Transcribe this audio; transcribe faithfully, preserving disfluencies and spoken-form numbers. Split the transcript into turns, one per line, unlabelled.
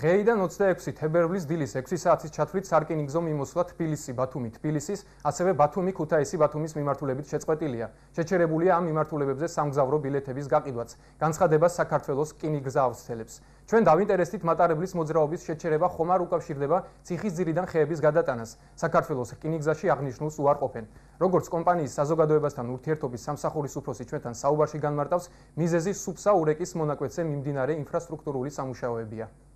დღეიდან ოცდაექვსი თებერვლის დილის ექვსი საათის ჩათვლით სარკინიგზო მიმოსვლა თბილისი, ბათუმი, თბილისის, ასევე ბათუმი, ქუთაისი, ბათუმის მიმართულებით შეწყვეტილია. შეჩერებულია ამ მიმართულებებზე სამგზავრო ბილეთების გაყიდვაც. განცხადებას საქართველოს რკინიგზა ავრცელებს. ჩვენ დავინტერესდით მატარებლის მოძრაობის შეჩერება ხომ არ უკავშირდება ციხისძირიდან ხეების გადატანას. საქართველოს რკინიგზაში აღნიშნულს უარყოფენ. როგორც კომპანიის საზოგადოებასთან ურთიერთობის სამსახურის უფროსი ჩვენთან საუბარში განმარტავს, მიზეზი სუფსა ურეკის მონაკვეთზე მიმდინარე ინფრასტრუქტურული სამუშაოებია.